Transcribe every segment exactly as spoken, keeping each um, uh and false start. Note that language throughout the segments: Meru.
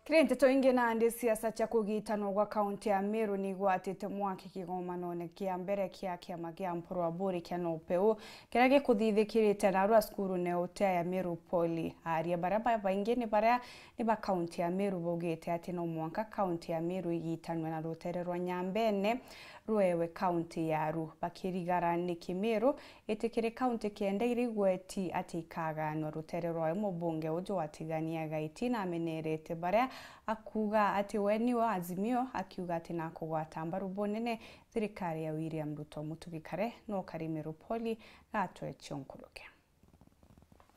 Kiri nteto ingi, nandi siasa cia kugitanwa gwa kaunti ya Meru ni igwatite mwaki kigomanone kia mbere kia kiama kia Mpuru Aburi kia NOPEU, kiria gikuthithikirite narua cukuru ne utea ya Meru Poly. Aria baria babaingi ni baria ni ba kaunti ya Meru baugite ati no mwanka kaunti ya Meru igitanwe na rutere rwa Nyambene rwewe kaunti yaru, bakirigara ni Kimeru itikiri kaunti kenda iri igweti ati ikaganwa rutere rwayo. Mubunge uju wa Tigania Gaiti namenerete baria akuga ati we niwe Azimio, akiuga ati nakugwata mbaru bunene thirikari ya William Ruto. Mutugi Kare no kari Meru Poly gatwe cionkuruke.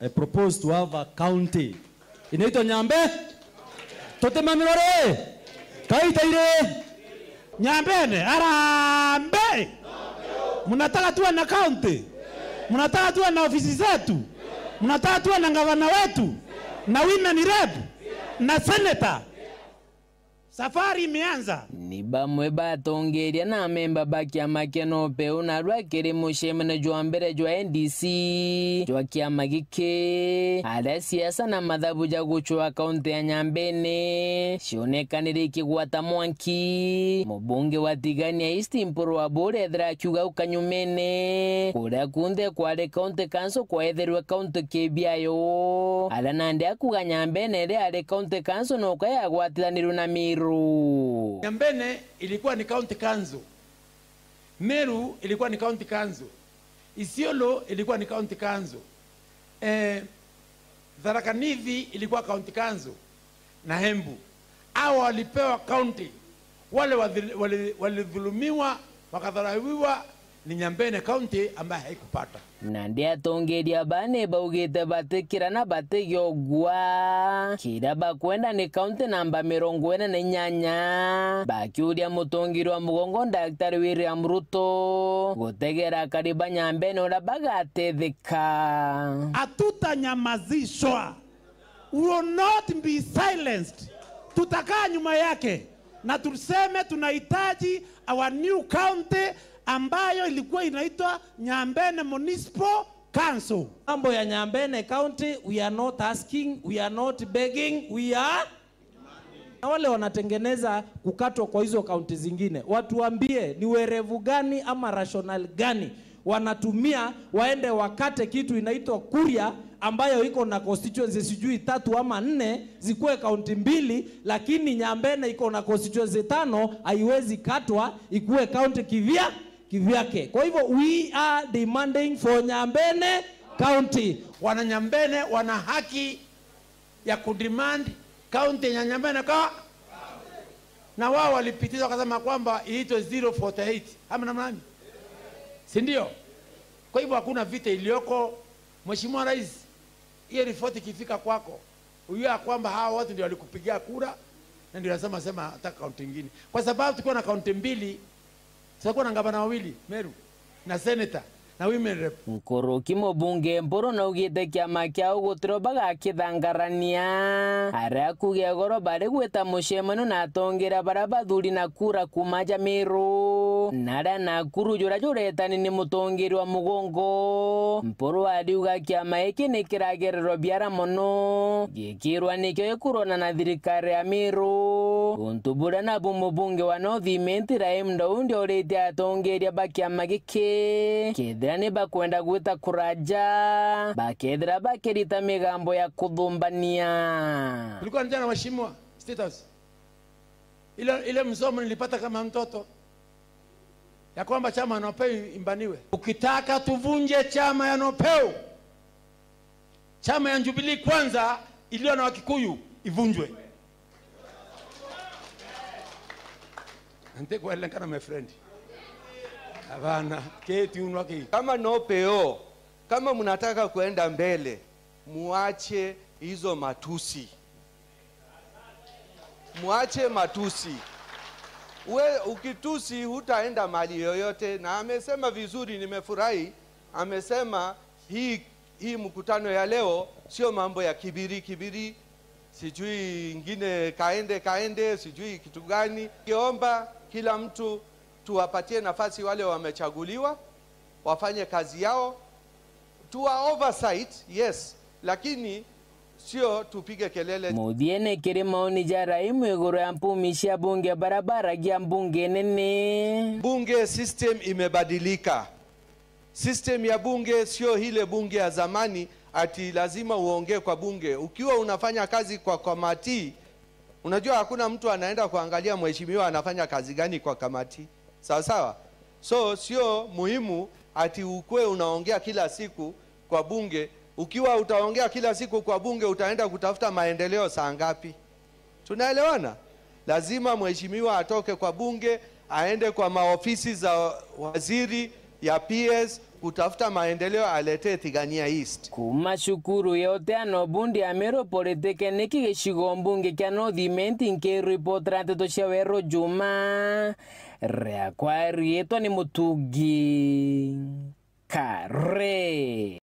I propose to have a county inaitwa Nyambe. Tutimamiro ri? Kaita iri. Nyambene, arambe! Mnataka tuwe na county? Mnataka tuwe na ofisi zetu? Mnataka tuwe na gavana wetu? Na women rep? Na senator? Safari imeanza. Ni bamwe batongeria na amemba ba kiama kia NOPEU narua kiri mucemanio jwa mbere jwa N D C jwa kiama giki, aria siasa na mathabu ja gucwaa kaunti ya Nyambene cionekanire ikigwata mwanki. Mubunge wa Tigania East Mpuru Aburi ethira akiuga au kanyumene, kuria kunthe kwari county council kwaetherwe kaunti kibiayo, aria nandi akuga Nyambene iria yari county council noka yagwatiranirwe na Meru. Nyambene ilikuwa ni county council. Meru ilikuwa ni county council. Isiolo ilikuwa ni county council. Eh, Tharaka Nithi ilikuwa county council na Embu. Hao walipewa county. Wale wadhil-, wali-, walidhulumiwa, wakadharauliwa, ni Nyambene County ambaye haikupata. Nandi atongeria baa ni baugite batikira na batigiogua. Kiria bakwenda ni kaunti namba mirongo ina na inyanya, bakiuria mutongeria wa mugongo Daktari William Ruto gutegera akari ba Nyambene uria bagatetheka. Hatutanyamazishwa. We will not be silenced. Tutakaa nyuma yake na tuseme tunahitaji our new county ambayo ilikuwa inaitwa Nyambene Municipal Council. Mambo ya Nyambene County, we are not asking, we are not begging, we are... Na wale wanatengeneza kukatwa kwa hizo kaunti zingine, watuambie ni werevu gani ama rational gani wanatumia waende wakate kitu inaitwa Kuria, ambayo iko na constituency sijui tatu ama nne, zikuwe kaunti mbili, lakini Nyambene iko na constituency tano, haiwezi katwa ikuwe kaunti kivya-, kivyake. Kwa hivyo, we are demanding for Nyambene County. Wana Nyambene wana haki ya kudemand county ya Nyambene ka-, na wao walipitiza wakasema kwamba iitwe zero forty eight, ama namna gani? Si ndio? Kwa hivyo hakuna vita iliyoko. Mheshimiwa Rais, hiyo report ikifika kwako, ujue ya kwamba hawa watu ndio walikupigia kura na ndio wanasema sema hata kaunti ingine, kwa sababu tukiwa na kaunti mbili, tutakuwa na gavana wawili, Meru na senator na women rep. Nkuruki mubunge Mpuru naugite kiama kiao gutiro bagakithangarania, aria kugia goro bari gwita mucemanio na atongeria baria bathuri na kura kuuma ja Meru, na aria Nakuru juria juretani ni mutongeria wa mugongo. Mpuru ariuga kiama giki ni kiragererwa biara mono, gikirwa nikio gikurwana na thirikari ya Meru, untu buria nabu mubunge wa North Imenti Raim Daudi oritie atongeria ba kiama giki kethira ni bakwenda gwita kura ja, bakethira bakirita migambo ya kuthumbania. Kulikuwa na jana, Mheshimiwa State House, ile, ile msomo nilipata kama mtoto ya kwamba chama ya NOPEU imbaniwe. Ukitaka tuvunje chama ya NOPEU, chama ya Jubilee Kwanza iliyo na Wakikuyu ivunjwe. Ntikwelekana, my friend. Hapana, keti unwa ki. Kama NOPEU, kama mnataka kuenda mbele, muache hizo matusi. Muache matusi. We ukitusi hutaenda mahali yoyote, na amesema vizuri, nimefurahi. Amesema hii, hii mkutano ya leo sio mambo ya kibiri kibiri, sijui ingine kaende kaende, sijui kitu gani. Kiomba kila mtu tuwapatie nafasi wale wamechaguliwa wafanye kazi yao. Tuwa oversight, yes, lakini Sio tupige kelele. Muthiene kiri maoni ja Raimu iguru ya mpumi cia bunge baria baragia mbunge nene. Bunge system imebadilika. System ya bunge sio ile bunge ya zamani ati lazima uongee kwa bunge. Ukiwa unafanya kazi kwa kamati, unajua hakuna mtu anaenda kuangalia mheshimiwa anafanya kazi gani kwa kamati. Sawa sawa? So sio muhimu ati ukue unaongea kila siku kwa bunge. Ukiwa utaongea kila siku kwa bunge, utaenda kutafuta maendeleo saa ngapi? Tunaelewana? Lazima mheshimiwa atoke kwa bunge, aende kwa maofisi za waziri ya P S kutafuta maendeleo, aletee Tigania East. Kuma cukuru ya uteano bundi ya Meru Polytechnic gicigo mbunge kia North Imenti, nkiripotera nteto cia Weru Juma, riakwa riitwa ni Mutugi Kare.